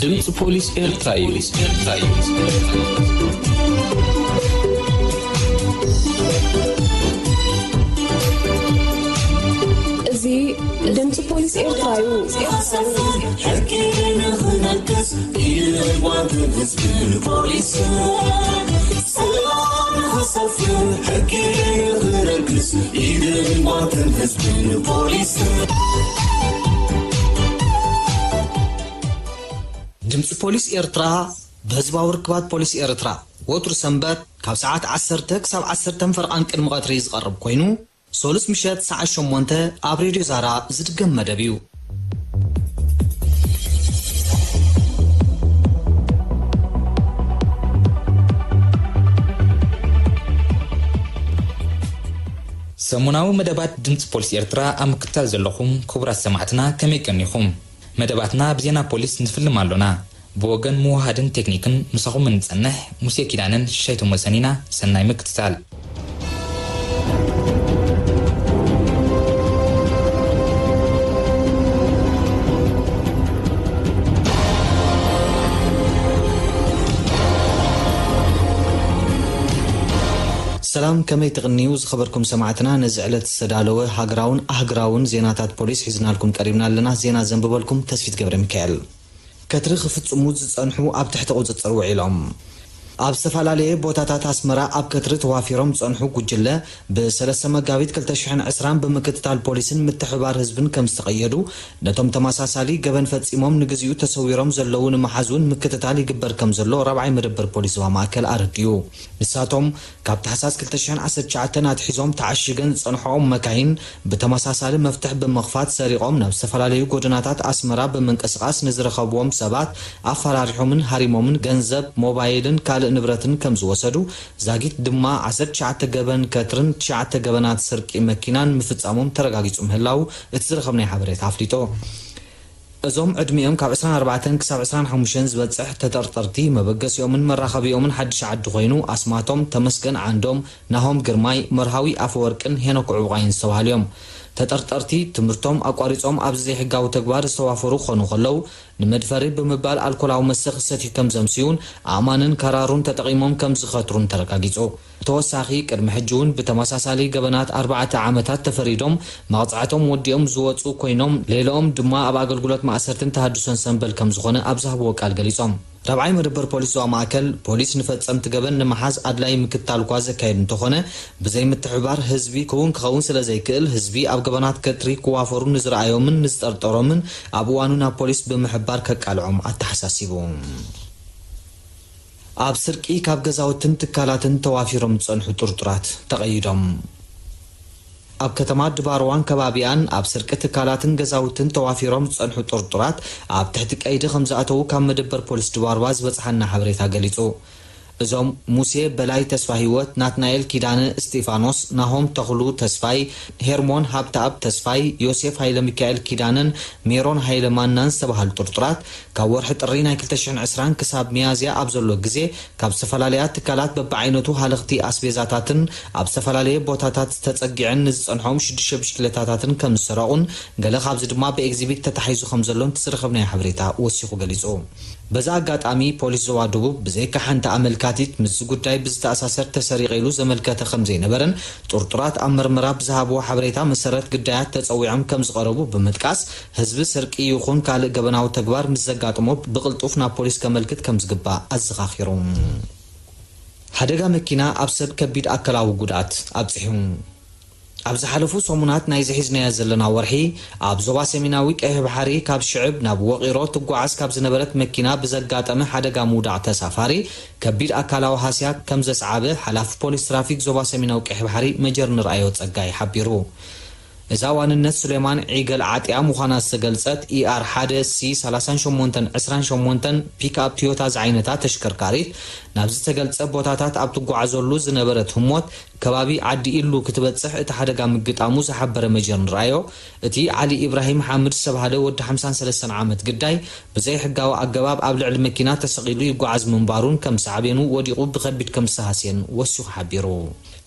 ድምፂ ፖሊስ ኤርትራ እዩ። እዚ ድምፂ ፖሊስ ኤርትራ እዩ። ሕጊ ንኽነግስ ኢድን ጓንትን ህዝብን ፖሊስን፣ ሰላም ንኽሰፍን ሕጊ ንኽነግስ ኢድን ጓንትን ህዝብን ፖሊስን። ድምፂ ፖሊስ ኤርትራ ብህዝባዊ ርክባት ፖሊስ ኤርትራ ወትሩ ሰንበት ካብ ሰዓት ዓሰርተ ክሳብ ዓሰርተ ፈርቓን ቅድሚ ቀትሪ ዝቐርብ ኮይኑ፣ ሶሉስ ምሸት ሰዓት ሸሞንተ ኣብ ሬድዮ ዛራ ዝድገም መደብ እዩ። ሰሙናዊ መደባት ድምፂ ፖሊስ ኤርትራ ኣብ ምክትታል ዘለኹም ክቡራት ሰማዕትና ከመይ ቀኒኹም? መደባትና ብዜና ፖሊስ ንፍልም ኣሎና። ብወገን ምውሃድን ቴክኒክን ምሳኹም እንጸንሕ ሙሴ ኪዳነን ሽሻይ ቶሞሰን ኢና። ሰናይ ምክትታል። ሰላም፣ ከመይ ትቕንዩ ዝኸበርኩም ሰማዕትና? ነዚ ዕለት ዝተዳለወ ሃገራውን ኣህግራውን ዜናታት ፖሊስ ሒዝናልኩም ቀሪብና ኣለና። ዜና ዘንብበልኩም ተስፊት ገብረ ሚካኤል። ከትሪ ክፍጽሙ ዝጸንሑ ኣብ ትሕቲ ቁጽጽር ውዒሎም። ኣብ ዝተፈላለየ ቦታታት ኣስመራ ኣብ ከትሪ ተዋፊሮም ዝጸንሑ ጉጅለ፣ ብሰለስተ መጋቢት ክልተ ሽሕን ዕስራን ብምክትታል ፖሊስን ምትሕብባር ህዝብን ከም ዝተቐየዱ፣ ነቶም ተመሳሳሊ ገበን ፈጺሞም ንግዚኡ ተሰዊሮም ዘለዉ ንምሓዝ እውን ምክትታል ይግበር ከም ዘሎ ራብዓይ መደበር ፖሊስ ዞባ ማእከል ኣረዲኡ። ንሳቶም፣ ካብ ታሕሳስ ክልተ ሽሕን ዓሰርተ ትሽዓተን ኣትሒዞም ተዓሺገን ዝጸንሕኦም መካይን ብተመሳሳሊ መፍትሕ ብምኽፋት ሰሪቖም ናብ ዝተፈላለዩ ጎደናታት ኣስመራ ብምንቅስቓስ ንዝረኸብዎም ሰባት ኣፈራሪሖምን ሃሪሞምን ገንዘብ፣ ሞባይልን ካልእ ንብረትን ከም ዝወሰዱ፣ ዛጊት ድማ ዓሰርተ ትሽዓተ ገበን ከትርን ትሽዓተ ገበናት ስርቂ መኪናን ምፍጻሞም ተረጋጊጹ ምህላው እቲ ዝረኸብናዮ ሓበሬታ ኣፍሊጡ። እዞም ዕድሚኦም ካብ ዕስራን ኣርባዕተን ክሳብ ዕስራን ሓሙሽተን ዝበጽሕ ተጠርጠርቲ፣ መበገሲኦምን መራኸቢኦምን ሓድሽ ዓዲ ኮይኑ፣ ኣስማቶም ተመስገን ዓንዶም፣ ናሆም ግርማይ፣ መርሃዊ ኣፈወርቅን ሄኖክ ዕቡቓይን ዝተባህሉ እዮም። ተጠርጠርቲ ትምህርቶም ኣቋሪጾም ኣብዚ ዘይሕጋዊ ተግባር ዝተዋፈሩ ክኾኑ ከለዉ፣ ንመድፈሪ ብምባል ኣልኮላዊ መስተ ክሰትዩ ከም ዘምስዩን ኣእማንን ካራሩን ተጠቒሞም ከም ዝኸትሩን ተረጋጊጹ። ብተወሳኺ፣ ቅድሚ ሕጂ እውን ብተመሳሳሊ ገበናት ኣርባዕተ ዓመታት ተፈሪዶም መቕጻዕቶም ወዲኦም ዝወጹ ኮይኖም፣ ሌላኦም ድማ ኣብ ኣገልግሎት ማእሰርትን ተሃድሶን ሰንበል ከም ዝኾነ ኣብ ዝሃብዎ ቃል ገሊጾም። ራብዓይ መደበር ፖሊስ ዞባ ማእከል፣ ፖሊስ ንፈጸምቲ ገበን ንምሓዝ ኣድላዪ ምክትታል እኳ ዘካየድ እንተኾነ፣ ብዘይ ምትሕብባር ህዝቢ ክውን ክኸውን ስለ ዘይክእል፣ ህዝቢ ኣብ ገበናት ከትሪ ክዋፈሩ ንዝረኣዮምን ንዝጠርጠሮምን ኣብ እዋኑ ናብ ፖሊስ ብምሕባር ከቃልዖም ኣተሓሳሲቡ። ኣብ ስርቂ ካብ ገዛውትን ትካላትን ተዋፊሮም ዝጸንሑ ጥርጡራት ተቐይዶም። ኣብ ከተማ ድባርዋን ከባቢኣን ኣብ ስርቂ ትካላትን ገዛውትን ተዋፊሮም ዝጸንሑ ጥርጡራት ኣብ ትሕቲ ቀይዲ ከም ዝኣተዉ ካብ መደበር ፖሊስ ድባርዋ ዝበጽሓና ሓበሬታ ገሊጹ። እዞም ሙሴ በላይ ተስፋ ህይወት፣ ናትናኤል ኪዳነ እስጢፋኖስ፣ ናሆም ተኽሉ ተስፋይ፣ ሄርሞን ሃብተኣብ ተስፋይ፣ ዮሴፍ ሃይለ ሚካኤል ኪዳነን ሜሮን ሃይለ ማናን ዝተባህሉ ጥርጡራት ካብ ወርሒ ጥሪ ናይ ክልተ ሽሕን ዕስራን ክሳብ ሚያዝያ ኣብ ዘሎ ግዜ ካብ ዝተፈላለያ ትካላት በብዓይነቱ ሃለኽቲ ኣስቤዛታትን ኣብ ዝተፈላለየ ቦታታት ተጸጊዐን ንዝጸንሖም ሽዱሽተ ብሽክሌታታትን ከም ዝሰረቑን ገለ ካብዚ ድማ ብኤግዚቢት ተታሒዙ ከም ዘሎን እቲ ዝረኸብናዮ ሓበሬታ ወሲኹ ገሊጹ። በዚ ኣጋጣሚ ፖሊስ ዞባ ደቡብ ብዘይካ ሓንቲ ኣመልካቲት ምስዚ ጉዳይ ብዝተኣሳሰር ተሰሪቐ ኢሉ ዘመልከተ ከም ዘይነበረን ጥርጡራት ኣብ መርመራ ብዝሃብዎ ሓበሬታ መሰረት ግዳያት ተጸዊዖም ከም ዝቐረቡ ብምጥቃስ ህዝቢ ስርቂ ይኹን ካልእ ገበናዊ ተግባር ምስ ዘጋጥሞ ብቕልጡፍ ናብ ፖሊስ ከመልክት ከም ዝግባእ ኣዘኻኺሩ። ሓደጋ መኪና ኣብ ሰብ ከቢድ ኣካላዊ ጉድኣት ኣብጺሑ። ኣብ ዝሓለፉ ሰሙናት ናይዚ ሒዝናዮ ዘለና ወርሒ ኣብ ዞባ ሰሜናዊ ቀይሕ ባሕሪ ካብ ሽዕብ ናብ ወቒሮ ትጓዓዝ ካብ ዝነበረት መኪና ብዘጋጠመ ሓደጋ ምውዳቕ ተሳፋሪ ከቢድ ኣካላዊ ሃስያ ከም ዘስዓበ ሓላፊ ፖሊስ ትራፊክ ዞባ ሰሜናዊ ቀይሕ ባሕሪ መጀር ንርኣዮ ጸጋይ ሓቢሩ። እዛ ዋንነት ሱሌማን ዒገል ዓጢያ ምዃና ዝተገልጸት ኢኣር ሓደ ሲ ሰላሳን ሸሞንተን ዕስራን ሸሞንተን ፒክኣፕ ቶዮታ ዝዓይነታ ተሽከርካሪት ናብ ዝተገልጸ ቦታታት ኣብ ትጓዓዘሉ ዝነበረት ህሞት ከባቢ ዓዲ ኢሉ ክትበጽሕ እቲ ሓደጋ ምግጣሙ ዝሓበረ መጀር ንርኣዮ፣ እቲ ዓሊ ኢብራሂም ሓምድ ዝተባህለ ወዲ ሓምሳን ሰለስተን ዓመት ግዳይ ብዘይሕጋዊ ኣገባብ ኣብ ልዕሊ መኪና ተሰቒሉ ይጓዓዝ ምንባሩን ከም ሳዕቤኑ ወዲቑ ብኸቢድ ከም ዝተሃስየን ወሲኹ ሓቢሩ።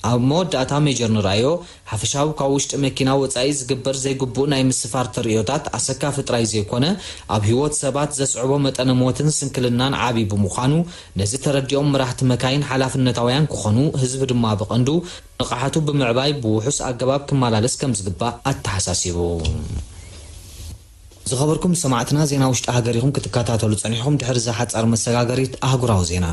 ኣብ መወዳእታ ሜጀር ንርኣዮ፣ ሓፈሻዊ ካብ ውሽጢ መኪና ወጻኢ ዝግበር ዘይግቡእ ናይ ምስፋር ተርእዮታት ኣሰካፊ ጥራይ ዘይኮነ፣ ኣብ ህይወት ሰባት ዘስዕቦ መጠነ ሞትን ስንክልናን ዓቢ ብምዃኑ፣ ነዚ ተረዲኦም መራሕቲ መካይን ሓላፍነታውያን ክኾኑ፣ ህዝቢ ድማ ብቐንዱ ንቕሓቱ ብምዕባይ ብውሑስ ኣገባብ ክመላለስ ከም ዝግባእ ኣተሓሳሲቡ። ዝኸበርኩም ሰማዕትና፣ ዜና ውሽጢ ሃገር ኢኹም ክትከታተሉ ጸኒሕኹም። ድሕሪ እዛ ሓጻር መሰጋገሪት፣ ኣህጉራዊ ዜና።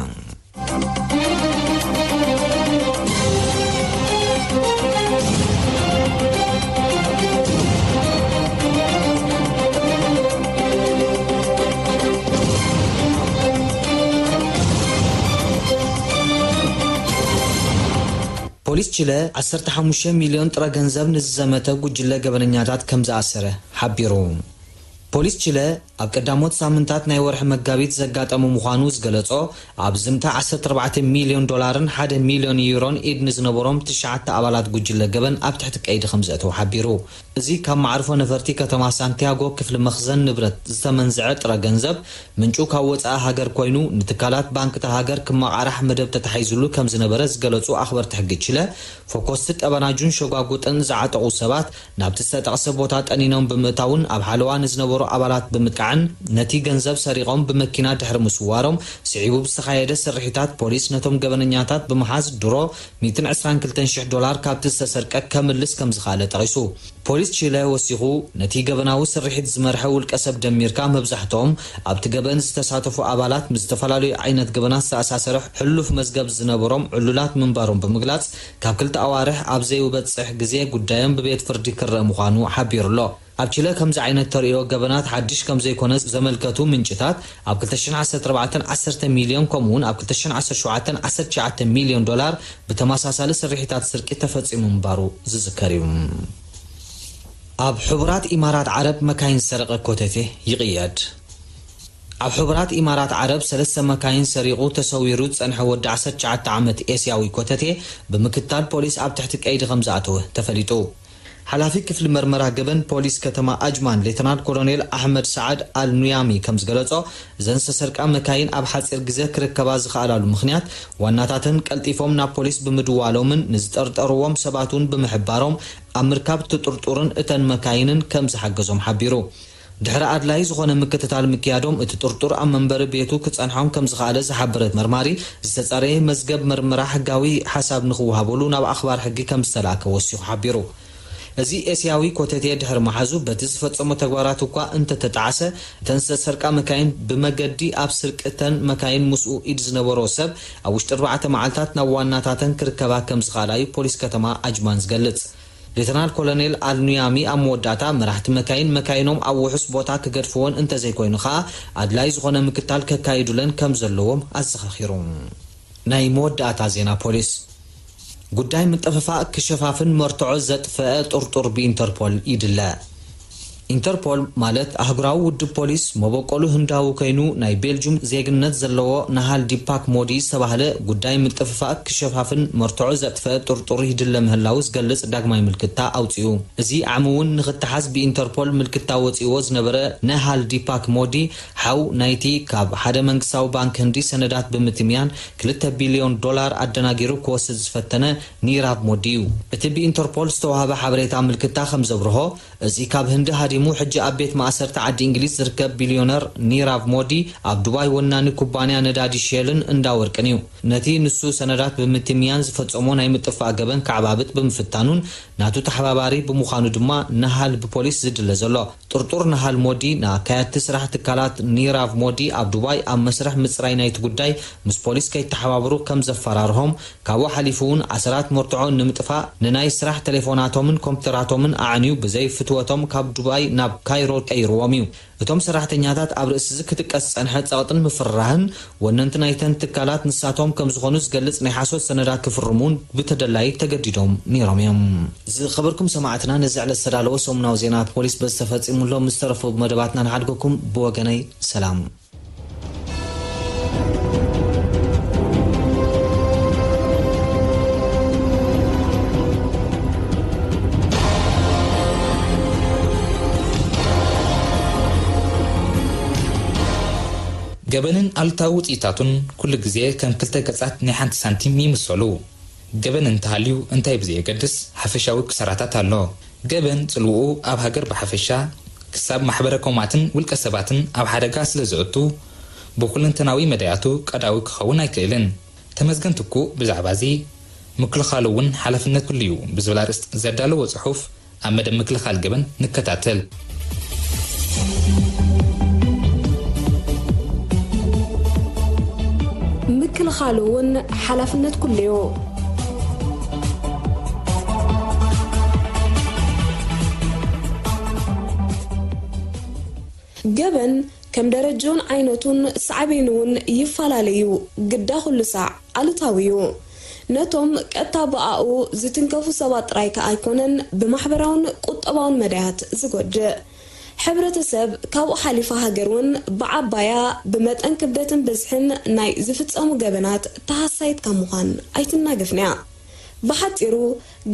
ፖሊስ ቺለ ዓሰርተ ሓሙሽተ ሚልዮን ጥረ ገንዘብ ንዝዘመተ ጉጅለ ገበነኛታት ከም ዝኣሰረ ሓቢሩ። ፖሊስ ቺለ ኣብ ቀዳሞት ሳምንታት ናይ ወርሒ መጋቢት ዘጋጠሙ ምዃኑ ዝገለጾ፣ ኣብ ዝምታ ዓሰርተ ኣርባዕተ ሚልዮን ዶላርን ሓደ ሚልዮን ዩሮን ኢድ ንዝነበሮም ትሽዓተ ኣባላት ጉጅለ ገበን ኣብ ትሕቲ ቀይዲ ከም ዘእተው ሓቢሩ። እዚ ካብ መዕርፎ ነፈርቲ ከተማ ሳንቲያጎ ክፍሊ መኽዘን ንብረት ዝተመንዝዐ ጥረ ገንዘብ፣ ምንጩ ካብ ወጻኢ ሃገር ኮይኑ፣ ንትካላት ባንክ እታ ሃገር ክመቓራሕ መደብ ተታሒዙሉ ከም ዝነበረ ዝገለጹ ኣኽበርቲ ሕጊ ቺለ፣ ፈኮስቲ ጠበናጁን ሸጓጉጥን ዝዓጠቑ ሰባት ናብቲ ዝተጠቕሰ ቦታ ጠኒኖም ብምእታውን ኣብ ሓለዋ ንዝነበሩ ኣባላት ብምጥቃዕን ነቲ ገንዘብ ሰሪቖም ብመኪና ድሕሪ ምስዋሮም፣ ስዒቡ ብዝተኻየደ ስርሒታት ፖሊስ ነቶም ገበነኛታት ብምሓዝ ድሮ ሚእትን ዕስራን ክልተን ሽሕ ዶላር ካብቲ ዝተሰርቀ ከምልስ ከም ዝኸኣለ ጠቒሱ። ፖሊስ ቺለ ወሲኹ፣ ነቲ ገበናዊ ስርሒት ዝመርሐ ውልቀ ሰብ ደሚርካ፣ መብዛሕትኦም ኣብቲ ገበን ዝተሳተፉ ኣባላት ምስ ዝተፈላለዩ ዓይነት ገበናት ዝተኣሳሰረ ሕሉፍ መዝገብ ዝነበሮም ዕሉላት ምንባሮም ብምግላጽ፣ ካብ ክልተ ኣዋርሕ ኣብ ዘይበጽሕ ግዜ ጉዳዮም ብቤት ፍርዲ ክረአ ምዃኑ ሓቢሩ ኣሎ። ኣብ ቺለ ከምዚ ዓይነት ተርእዮ ገበናት ሓድሽ ከም ዘይኮነ ዘመልከቱ ምንጭታት፣ ኣብ ክልተ ሽሕን ዓሰርተ ኣርባዕተን ዓሰርተ ሚልዮን፣ ከምኡ'ውን ኣብ ክልተ ሽሕን ዓሰርተ ሸውዓተን ዓሰርተ ትሽዓተ ሚልዮን ዶላር ብተመሳሳሊ ስርሒታት ስርቂ ተፈጺሙ ምንባሩ ዝዝከር እዩ። ኣብ ሕቡራት ኢማራት ዓረብ መካይን ዝሰረቐ ኮተቴ ይቕየድ። ኣብ ሕቡራት ኢማራት ዓረብ ሰለስተ መካይን ሰሪቑ ተሰዊሩ ዝጸንሐ ወዲ ዓሰርተ ትሽዓተ ዓመት ኤስያዊ ኮተቴ ብምክታል ፖሊስ ኣብ ትሕቲ ቀይዲ ከም ዝኣተወ ተፈሊጡ። ሓላፊ ክፍሊ መርመራ ገበን ፖሊስ ከተማ ኣጅማን ሌተናል ኮሎኔል ኣሕመድ ሰዓድ ኣል ኑያሚ ከም ዝገለጾ፣ እዘን ዝተሰርቃ መካይን ኣብ ሓጺር ግዜ ክርከባ ዝኸኣላሉ ምኽንያት ዋናታተን ቀልጢፎም ናብ ፖሊስ ብምድዋሎምን ንዝጠርጠርዎም ሰባት እውን ብምሕባሮም ኣብ ምርካብ እቲ ጥርጡርን እተን መካይንን ከም ዝሓገዞም ሓቢሩ። ድሕሪ ኣድላይ ዝኾነ ምክትታል ምክያዶም፣ እቲ ጥርጡር ኣብ መንበሪ ቤቱ ክጸንሖም ከም ዝኸኣለ ዝሓበረት መርማሪ፣ ዝተጻረየ መዝገብ መርመራ ሕጋዊ ሓሳብ ንኽወሃበሉ ናብ ኣኽባር ሕጊ ከም ዝተላእከ ወሲኹ ሓቢሩ። እዚ ኤስያዊ ኮተቴ ድሕሪ መሓዙ፣ በቲ ዝፈጸሞ ተግባራት እኳ እንተተጣዕሰ፣ እተን ዝተሰርቃ መካይን ብመገዲ ኣብ ስርቂ እተን መካይን ምስኡ ኢድ ዝነበሮ ሰብ ኣብ ውሽጢ ኣርባዕተ መዓልታት ናብ ዋናታተን ክርከባ ከም ዝኸኣላ እዩ ፖሊስ ከተማ ኣጅማን ዝገልጽ። ሌተናል ኮሎኔል ኣልኑያሚ ኣብ መወዳእታ፣ መራሕቲ መካይን መካይኖም ኣብ ውሑስ ቦታ ክገድፍወን እንተዘይኮይኑ ኸኣ ኣድላይ ዝኾነ ምክታል ከካይዱለን ከም ዘለዎም ኣዘኻኺሩ። ናይ መወዳእታ ዜና ፖሊስ። ጉዳይ ምጥፍፋእ ክሸፋፍን መርትዖ ዘጥፈአ ጥርጡር ብኢንተርፖል ይድለ። ኢንተርፖል ማለት ኣህጉራዊ ውድብ ፖሊስ፣ መበቆሉ ህንዳዊ ኮይኑ ናይ ቤልጁም ዜግነት ዘለዎ ናሃል ዲፓክ ሞዲ ዝተባህለ ጉዳይ ምጥፍፋእ ክሸፋፍን መርትዖ ዘጥፈአ ጥርጡር ይድለ ምህላዉ ዝገልጽ ዳግማይ ምልክታ ኣውጺኡ። እዚ ዓሚ እውን ንኽተሓዝ ብኢንተርፖል ምልክታ ወጺእዎ ዝነበረ ናሃል ዲፓክ ሞዲ፣ ሓው ናይቲ ካብ ሓደ መንግስታዊ ባንክ ህንዲ ሰነዳት ብምትምያን ክልተ ቢልዮን ዶላር ኣደናጊሩ ክወስድ ዝፈተነ ኒራቭ ሞዲ እዩ። እቲ ብኢንተርፖል ዝተዋህበ ሓበሬታ ምልክታ ከም ዘብርሆ፣ እዚ ካብ ህንዲ ሃዲሙ ሕጂ ኣብ ቤት ማእሰርቲ ዓዲ እንግሊዝ ዝርከብ ቢልዮነር ኒራቭ ሞዲ፣ ኣብ ዱባይ ወናኒ ኩባንያ ነዳዲ ሼልን እንዳ ወርቅን እዩ። ነቲ ንሱ ሰነዳት ብምትምያን ዝፈጸሞ ናይ ምጥፋእ ገበን ከዓባብጥ ብምፍታኑን ናቱ ተሓባባሪ ብምዃኑ ድማ ናሃል ብፖሊስ ዝድለ ዘሎ። ጥርጡር ናሃል ሞዲ ንኣካየድቲ ስራሕ ትካላት ኒራቭ ሞዲ ኣብ ዱባይ ኣብ መስርሕ ምጽራይ ናይቲ ጉዳይ ምስ ፖሊስ ከይተሓባበሩ ከም ዘፈራርሆም፣ ካብኡ ሓሊፉ እውን ኣሰራት መርትዖ ንምጥፋእ ንናይ ስራሕ ቴሌፎናቶምን ኮምፒተራቶምን ኣዕንዩ ብዘይ ፍትወቶም ካብ ዱባይ ናብ ካይሮ ቀይርዎም እዩ። እቶም ሰራሕተኛታት ኣብ ርእሲ እዚ ክትቀስ ዝጸንሐ ጸቕጥን ምፍርራህን፣ ወነንቲ ናይተን ትካላት ንሳቶም ከም ዝኾኑ ዝገልጽ ናይ ሓሶት ሰነዳት ክፍርሙ እውን ብተደላዪ ተገዲዶም ነይሮም እዮም። ዝኸበርኩም ሰማዕትና፣ ነዚ ዕለት ዝተዳለወ ሰሙናዊ ዜና ፖሊስ በዚ ተፈጺሙ ኣሎ። ምስ ተረፉ መደባትና ንሓድገኩም። ብወገነይ ሰላም። ገበንን ኣሉታዊ ውጽኢታቱን ኩሉ ግዜ ከም ክልተ ገጻት ናይ ሓንቲ ሳንቲም ይምሰሉ። ገበን እንተሃልዩ እንታይ ብዘየገድስ ሓፈሻዊ ክሳራታት ኣሎ። ገበን ጽልውኡ ኣብ ሃገር ብሓፈሻ ክሳብ ማሕበረ ኮማትን ውልቀ ሰባትን ኣብ ሓደጋ ስለ ዘእቱ ብኩለንተናዊ መዳያቱ ቀዳዊ ክኸውን ኣይክእልን። ተመስገን ትኩእ ብዛዕባ እዚ ምክልኻሉ እውን ሓላፍነት ኩሉ እዩ ብዝብል ኣርእስት ዘዳለዎ ጽሑፍ ኣብ መደብ ምክልኻል ገበን ንከታተል። ምክልኻሉ እውን ሓላፍነት ኩሉ እዩ። ገበን ከም ደረጃኡን ዓይነቱን ሳዕቤኑ እውን ይፈላለ እዩ። ግዳ ኩሉ ሳዕ ኣሉታዊ እዩ። ነቶም ቀጥታ ብኣኡ ዝትንከፉ ሰባት ጥራይ ከኣ ኣይኮነን ብማሕበራውን ቁጠባውን መዳያት ዝጎድእ። ሕብረተሰብ ካብኡ ሓሊፋ ሃገር እውን ብዓባያ ብመጠን ክብደትን ብዝሕን ናይ ዝፍጸሙ ገበናት ተሃሳይት ካብ ምዃን ኣይትናገፍን እያ። ብሓጺሩ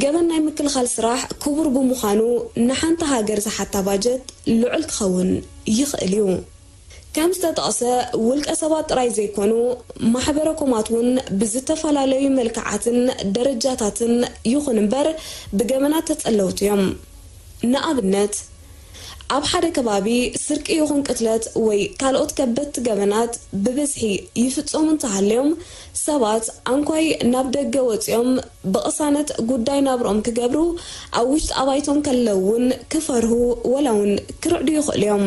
ገበን ናይ ምክልኻል ስራሕ ክቡር ብምዃኑ ንሓንቲ ሃገር ዝሓታ ባጀት ልዑል ክኸውን ይኽእል እዩ። ከም ዝተጠቕሰ ውልቀ ሰባት ጥራይ ዘይኮኑ ማሕበረ ኮማት እውን ብዝተፈላለዩ መልክዓትን ደረጃታትን ይኹን እምበር ብገበናት ተጸለውቲ እዮም። ንኣብነት ኣብ ሓደ ከባቢ ስርቂ ይኹን ቅትለት ወይ ካልኦት ከበድቲ ገበናት ብብዝሒ ይፍጸሙ እንተሃልዮም ሰባት ኣንኳይ ናብ ደገ ወጺኦም ብቕሳነት ጉዳይ ናብርኦም ክገብሩ ኣብ ውሽጢ ኣባይቶም ከለዉ እውን ክፈርሁ ወላ እውን ክርዕዱ ይኽእሉ እዮም።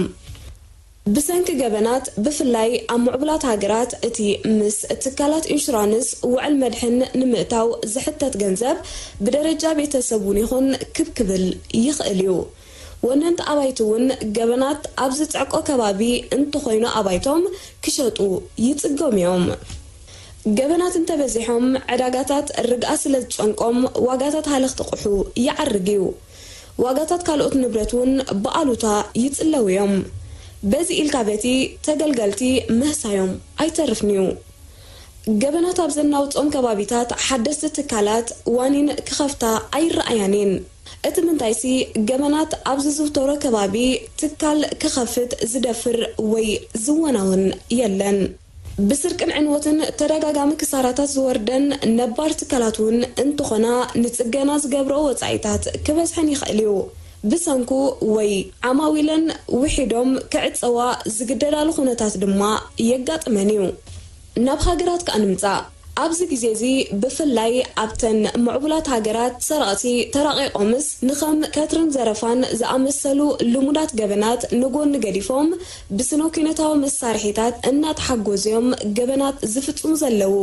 ብሰንኪ ገበናት ብፍላይ ኣብ ምዕቡላት ሃገራት እቲ ምስ ትካላት ኢንሹራንስ ውዕል መድሕን ንምእታው ዝሕተት ገንዘብ ብደረጃ ቤተሰብ እውን ይኹን ክብ ክብል ይኽእል እዩ። ወነንቲ ኣባይቲ እውን ገበናት ኣብ ዝጽዕቆ ከባቢ እንተኾይኑ ኣባይቶም ክሸጡ ይጽገሙ እዮም። ገበናት እንተበዚሖም ዕዳጋታት ርግኣ ስለ ዝጨንቆም ዋጋታት ሃለኽቲ ቁሑ ይዓርግ እዩ። ዋጋታት ካልኦት ንብረት እውን ብኣሉታ ይጽለዉ እዮም። በዚ ኢልካ በቲ ተገልገልቲ ምህሳዮም ኣይተርፍን እዩ። ገበናት ኣብ ዘናውጾም ከባቢታት ሓደስቲ ትካላት ዋኒን ክኸፍታ ኣይረኣያን እየን። እቲ ምንታይሲ ገበናት ኣብ ዝዝውተሮ ከባቢ ትካል ክኸፍት ዝደፍር ወይ ዝወናውን የለን። ብስርቅን ዕንወትን ተደጋጋሚ ክሳራታት ዝወርደን ነባር ትካላት እውን እንተኾና ንጽገና ዝገብሮ ወጻኢታት ክበዝሐን ይኽእል እዩ። ብሰንኩ ወይ ዓማዊለን ውሒዶም ክዕጸዋ ዝግደዳሉ ኩነታት ድማ የጋጥመን እዩ። ናብ ሃገራት ከኣ ንምጻእ። ኣብዚ ግዜ እዚ ብፍላይ ኣብተን ምዕቡላት ሃገራት ሰረቕቲ ተራቒቖምስ ንኸም ከትርን ዘረፋን ዝኣመሰሉ ልሙዳት ገበናት ንጎኒ ገዲፎም ብስነ ኩነታዊ መሳርሒታት እናተሓጎዙ እዮም ገበናት ዝፍጽሙ ዘለዉ።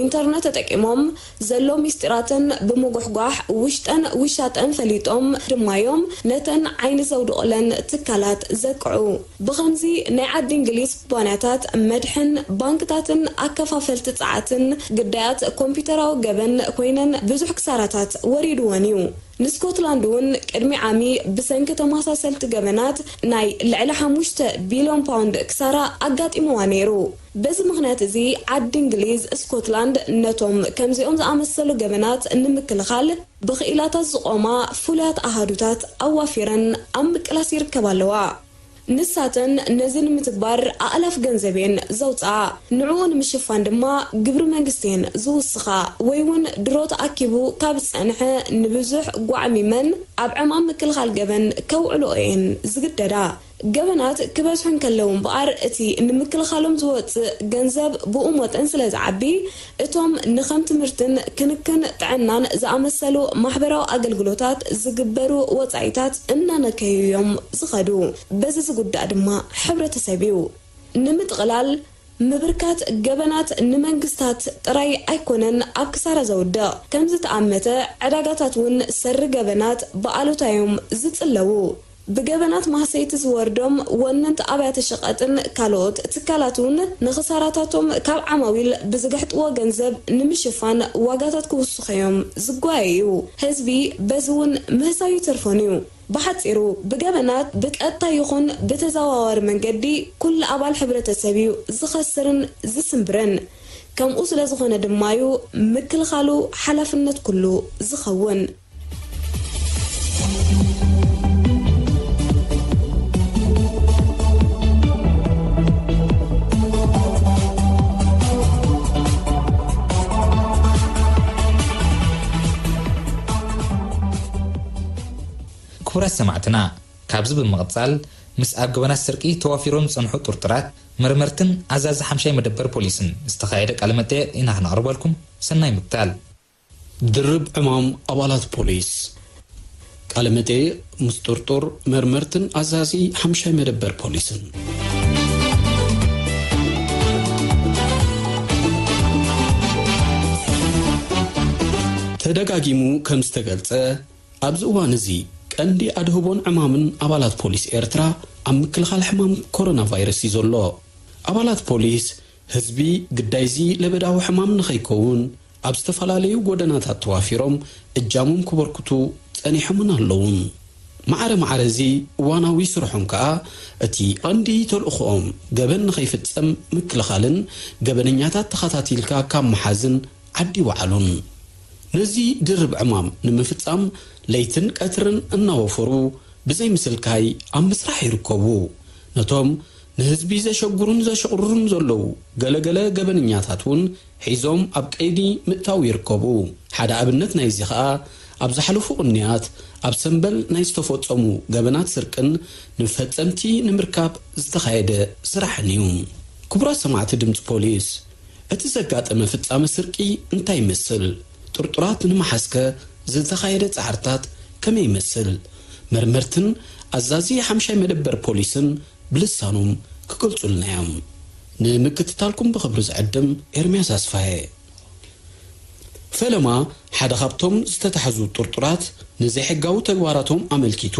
ኢንተርነት ተጠቂሞም ዘሎ ሚስጢራተን ብምጉሕጓሕ ውሽጠን ውሻጠን ፈሊጦም ድማዮም ነተን ዓይኒ ዘውድቑለን ትካላት ዘቅዑ። ብኸምዚ ናይ ዓዲ እንግሊዝ ኩባንያታት መድሕን፣ ባንክታትን ኣከፋፈልቲ ጸዓትን ግዳያት ኮምፒውተራዊ ገበን ኮይነን ብዙሕ ክሳራታት ወሪድወን እዩ። ንስኮትላንድ እውን ቅድሚ ዓሚ ብሰንኪ ተመሳሰልቲ ገበናት ናይ ልዕሊ ሓሙሽተ ቢልዮን ፓውንድ ክሳራ ኣጋጢምዋ ነይሩ። በዚ ምኽንያት እዚ ዓዲ እንግሊዝ ስኮትላንድ ነቶም ከምዚኦም ዝኣመሰሉ ገበናት ንምክልኻል ብኽኢላታት ዝቖማ ፍሉያት ኣሃዱታት ኣዋፊረን ኣብ ምቅላስ ይርከባ ኣለዋ። ንሳተን ነዚ ንምትግባር ኣእላፍ ገንዘብ እየን ዘውፅኣ። ንዕኡ ንምሽፋን ድማ ግብሪ መንግስቲ እየን ዝውስኻ ወይ እውን ድሮ ተኣኪቡ ካብ ዝፀንሐ ንብዙሕ ጓዕሚመን ኣብ ዕማም ምክልኻል ገበን ከውዕልኦ እየን ዝግደዳ። ገበናት ክበዝሑ እንከለዉ እምበኣር እቲ ንምክልኻሎም ዝወፅእ ገንዘብ ብኡ መጠን ስለ ዝዓቢ እቶም ንኸም ትምህርትን ክንክን ጥዕናን ዝኣመሰሉ ማሕበራዊ ኣገልግሎታት ዝግበሩ ወጻኢታት እናነከዩ እዮም ዝኸዱ። በዚ ዝጉዳእ ድማ ሕብረተሰብ እዩ። ንምጥቕላል፣ ምብርካት ገበናት ንመንግስታት ጥራይ ኣይኮነን ኣብ ክሳራ ዘውድቕ። ከም ዝተኣመተ ዕዳጋታት እውን ሰሪ ገበናት ብኣሉታ እዮም ዝጽለዉ። ብገበናት ማህሰይቲ ዝወርዶም ወነንቲ ኣብያተ ሸቐጥን ካልኦት ትካላት እውን ንኽሳራታቶም ካብ ዓማዊል ብዝግሕጥዎ ገንዘብ ንምሽፋን ዋጋታት ክውስኹ እዮም ዝጓየዩ። ህዝቢ በዚ እውን ምህሳዩ ይተርፎን እዩ። ብሓጺሩ ብገበናት ብቀጥታ ይኹን ብተዘዋዋሪ መንገዲ ኩሉ ኣባል ሕብረተሰብ እዩ ዝኸስርን ዝስንብርን። ከምኡ ስለ ዝኾነ ድማ እዩ ምክልኻሉ ሓላፍነት ኩሉ ዝኸውን። ክቡራት ሰማዕትና፣ ካብዚ ብምቕጻል ምስ ኣብ ገበናት ስርቂ ተዋፊሮም ዝጸንሑ ጥርጡራት መርመርትን ኣዛዚ ሓምሻይ መደበር ፖሊስን ዝተኻየደ ቃለ መጠየቕ ኢና ክነቕርበልኩም። ሰናይ ምክታል። ድርብ ዕማም ኣባላት ፖሊስ። ቃለ መጠይቕ ምስ ጥርጡር መርመርትን ኣዛዚ ሓምሻይ መደበር ፖሊስን። ተደጋጊሙ ከም ዝተገልጸ፣ ኣብዚ እዋን እዚ ቀንዲ ኣድህቦን ዕማምን ኣባላት ፖሊስ ኤርትራ ኣብ ምክልኻል ሕማም ኮሮና ቫይረስ እዩ ዘሎ። ኣባላት ፖሊስ ህዝቢ ግዳይዚ ለበዳዊ ሕማም ንኸይከውን ኣብ ዝተፈላለዩ ጎደናታት ተዋፊሮም እጃሞም ክበርክቱ ጸኒሖምን ኣለውን። ማዕረ ማዕረ እዚ እዋናዊ ስርሖም ከኣ እቲ ቀንዲ ተልእኾኦም ገበን ንኸይፍጸም ምክልኻልን ገበነኛታት ተኸታቲልካ ካብ ምሓዝን ዓዲ ይወዓሉን። ነዚ ድርብ ዕማም ንምፍጻም ለይትን ቀትርን እናወፈሩ ብዘይ ምስልካይ ኣብ ምስራሕ ይርከቡ። ነቶም ንህዝቢ ዘሸግሩን ዘሸቕርሩን ዘለዉ ገለገለ ገበነኛታት እውን ሒዞም ኣብ ቀይዲ ምእታው ይርከቡ። ሓደ ኣብነት ናይዚ ኸኣ ኣብ ዝሓለፉ ቅንያት ኣብ ሰምበል ናይ ዝተፈጸሙ ገበናት ስርቅን ንፈጸምቲ ንምርካብ ዝተኻየደ ስራሕን እዩ። ክቡራት ሰማዕቲ ድምፂ ፖሊስ፣ እቲ ዘጋጠመ ፍጻመ ስርቂ እንታይ ይመስል? ጥርጡራት ንምሓዝከ ዝተኻየደ ጻዕርታት ከመይ ይመስል? መርመርትን ኣዛዚ ሓምሻይ መደበር ፖሊስን ብልሳኖም ክገልጹልና እዮም። ንምክትታልኩም ብኽብሪ ዝዕድም ኤርምያስ ኣስፋየ። ፈለማ ሓደ ካብቶም ዝተታሕዙ ጥርጡራት ንዘይሕጋዊ ተግባራቶም ኣመልኪቱ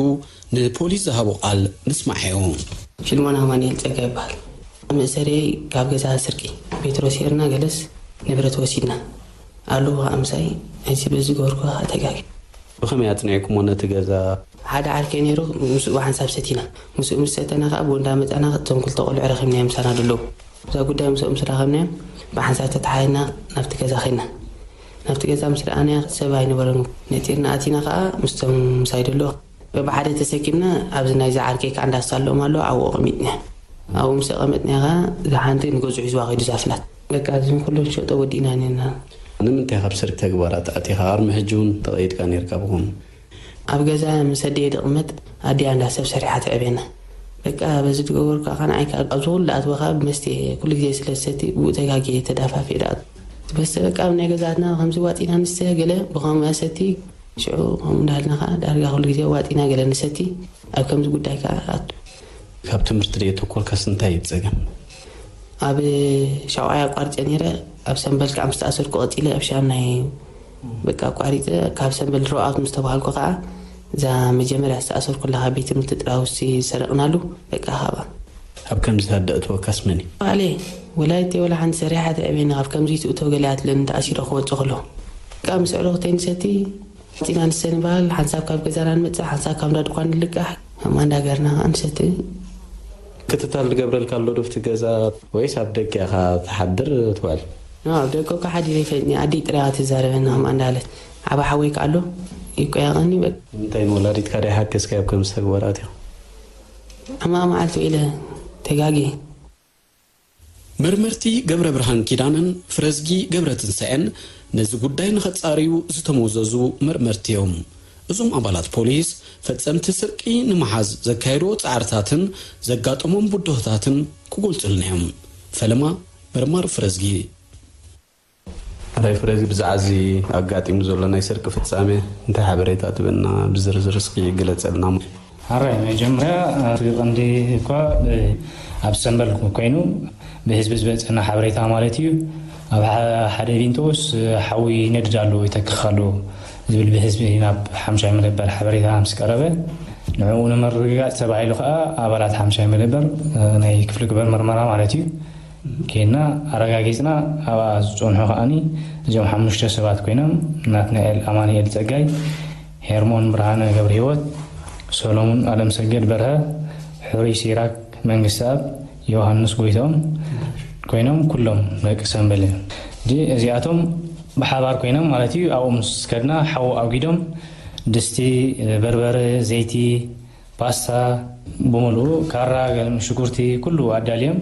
ንፖሊስ ዝሃቦ ቃል ንስማዓዮ። ፊልሞን ኣማኑኤል ጸጋ ይበሃል። መእሰሪ ካብ ገዛ ስርቂ ፔትሮስ ሄርና ገለስ ንብረት ወሲድና ኣለዉ። ከኣ ምሳይ ኣይሲ በዚ ገበርኩ ከኣ ተጋጊ። ብኸመይ ኣጽኒዕኩሞ ነቲ ገዛ? ሓደ ዓርከይ ነይሩ፣ ምስኡ ብሓንሳብ ሰቲና። ምስኡ ምስ ሰተና ከኣ ብኡ እንዳመጻና እቶም ክልተ ቆልዑ ረኺብናዮም ምሳና ደለዉ። እዛ ጉዳይ ምስኦም ምስ ረኸብናዮም ብሓንሳብ ተተሓሒዝና ናብቲ ገዛ ኸድና። ናብቲ ገዛ ምስ ረኣናዮ ሰብ ኣይነበረን። ነጢርና ኣቲና ከኣ ምስቶም ምሳይ ደለዉ በብሓደ ተሰኪምና ኣብዚ ናይዚ ዓርከይ ከኣ እንዳሳለኦም ኣለዉ ኣብኡ ኣቐሚጥናዮ። ኣብኡ ምስ ኣቐመጥናዮ ከኣ እዛ ሓንቲ ንገዝኡ ሒዝዋ ከይዱ እዛ ፍላት። በቃ እዚ ኩሉ ንሸጦ ወዲእና ኔርና። ንምንታይ ካብ ስርቂ ተግባራት ኣቲኻ? ኣርሚ ሕጂ እውን ተቐይድካ ኔርካ ብኸምኡ። ኣብ ገዛ ምስ ኣደየ ድቕመጥ ኣደያ እንዳ ሰብ ሰሪሓ ተዕብየና። በቃ በዚ ዝገበርኩ ከኣ ንዓይ ከኣ ኣብዚ ኩሉ ኣትወኻ ብመስተ ኩሉ ግዜ ስለ ዝሰቲ ብኡ ተጋግየ ተዳፋፊ ደኣ። በስተ በቃ ኣብ ናይ ገዛትና ከምዚ ዋጢና ንስተ ገለ ብኸምኡ ሰቲ ሽዑ ከምኡ እንዳሃልና ከኣ ዳርጋ ኩሉ ግዜ ዋጢና ገለ ንሰቲ ኣብ ከምዚ ጉዳይ ከኣ ኣቱ። ካብ ትምህርቲ ደየተኮርካስ እንታይ እዩ ጸገም? ኣብ ሻውዓይ ኣቋሪጸ ነይረ። ኣብ ሰምበል ከዓ ምስ ተኣሰርኩ ቀጺለ ኣብ ሻምናይ በቃ ኣቋሪጸ። ካብ ሰምበል ድሮኣውት ምስ ተባሃልኩ ከዓ እዛ መጀመርያ ዝተኣሰርኩላ ካብ ቤት ትምህርቲ ጥራውሲ ዝሰረቕናሉ በቃ ካብኣ። ኣብ ከምዚ ሃደ እትወካስ መን እዩ? ባዕለይ ወላዲተይ ወላ ሓንቲ ሰሪሓ ተዕቤኒ ካብ ከምዚ ትእቶ ገለ ኣትለኒ ተኣሲረ ክወጽእ ከሎ በቃ ምስ ኣዕሩኽተይ ንሰቲ ፂና ንሰ ንበሃል ሓንሳብ ካብ ገዛና ንመፅእ ሓንሳብ ካብ እንዳ ድኳን ንልቃሕ ከምኣ እንዳገርና ከዓ ንሰቲ። ክትታል ዝገብረልካ ኣሎ ዶ ኣብቲ ገዛ ወይስ ኣብ ደገ ኢኻ ትሓድር ትውዕል? ኣብ ደገ እኮ ሓዲረ ይፈልጥኒ ኣደይ ጥራይ እያ ትዛረበኒ ከምኣ እንዳበለት ዓባ ሓወይ ከዓ ኣሎ ይቆያቐኒ በቃ። ንምንታይ ንወላዲትካ ደይሓገዝካያ ኣብ ከምዚ ተግባር ኣትዩ? ሕማቕ መዓልቲ ውዒለ ተጋግየ። መርመርቲ ገብረብርሃን ኪዳነን ፍረዝጊ ገብረትንሳኤን ነዚ ጉዳይ ንኸጻርዩ ዝተመዘዙ መርመርቲ እዮም። እዞም ኣባላት ፖሊስ ፈጸምቲ ስርቂ ንምሓዝ ዘካየድዎ ጻዕርታትን ዘጋጠሞም ብድሆታትን ክገልጹልና እዮም። ፈለማ መርማሪ ፍረዝጊ። ሕራይ ፍረዝጊ፣ ብዛዕባ እዚ ኣጋጢሙ ዘሎ ናይ ስርቂ ፍጻሜ እንታይ ሓበሬታ ትበና? ብዝርዝር እስኪ ግለጸልና። ሕራይ፣ መጀመርያ እቲ ቀንዲ እኳ ብ-፣ ኣብ ሰምበል ኮይኑ ብህዝቢ ዝበጸና ሓበሬታ ማለት እዩ። ኣብ ሓ-፣ ሓደ ቪንቶስ ሓዊ ይነድድ ኣሎ፣ ይተክኽ ኣሎ ዝብል ብህዝቢ ናብ ሓምሻይ መደበር ሓበሬታ ምስ ቀረበ፣ ንዕኡ ንምርግጋጽ ተባሂሉ ከኣ ኣባላት ሓምሻይ መደበር፣ እ፣ ናይ ክፍሊ ግብረ መርመራ ማለት እዩ፣ ኬድና ኣረጋጊጽና። ኣብኣ ዝጸንሑ ከኣኒ እዚኦም ሓሙሽተ ሰባት ኮይኖም፣ ናትናኤል ኣማኑኤል ጸጋይ፣ ሄርሞን ብርሃነ ገብረህይወት፣ ሰሎሙን ኣለምሰገድ በርሀ፣ ሕሩይ ሲራክ መንግስተኣብ፣ ዮሃንስ ጎይትኦም ኮይኖም ኩሎም ደቂ ሰምበል እዮም። ሕጂ እዚኣቶም ብሓባር ኮይኖም ማለት እዩ ኣብኡ ምስ ከድና ሓዊ ኣውጊዶም ድስቲ፣ በርበረ፣ ዘይቲ፣ ፓስታ ብምሉኡ፣ ካራ፣ ገለ ሽጉርቲ፣ ኩሉ ኣዳልዮም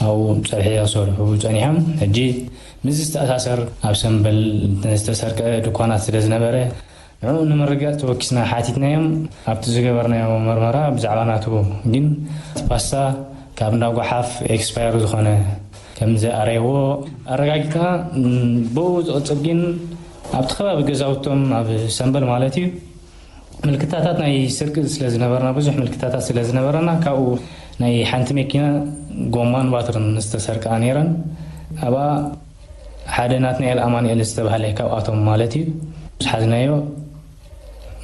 ኣብኡ ጸብሒ ክሰርሑ ጸኒሖም። ሕጂ ምስዚ ዝተኣሳሰር ኣብ ሰምበል ዝተሰርቀ ድኳናት ስለ ዝነበረ፣ ንዕኡ ንምርግጋጽ ተወኪስና ሓቲትናዮም። ኣብቲ ዝገበርናዮ መርመራ ብዛዕባ ናቱ ግን ፓስታ ካብ እንዳ ጓሓፍ ኤክስፓየር ዝኾነ ከም ዝኣረይዎ ኣረጋጊጽና። ብኡ ዝቕጽል ግን ኣብቲ ከባቢ ገዛውቶም ኣብ ሰምበል ማለት እዩ ምልክታታት ናይ ስርቂ ስለ ዝነበርና፣ ብዙሕ ምልክታታት ስለ ዝነበረና፣ ካብኡ ናይ ሓንቲ መኪና ጎማን ባትርን ዝተሰርቃ ነይረን። ኣብኣ ሓደ ናትናኤል ኣማኑኤል ዝተባህለ ካብኣቶም ማለት እዩ ምስ ሓዝናዮ፣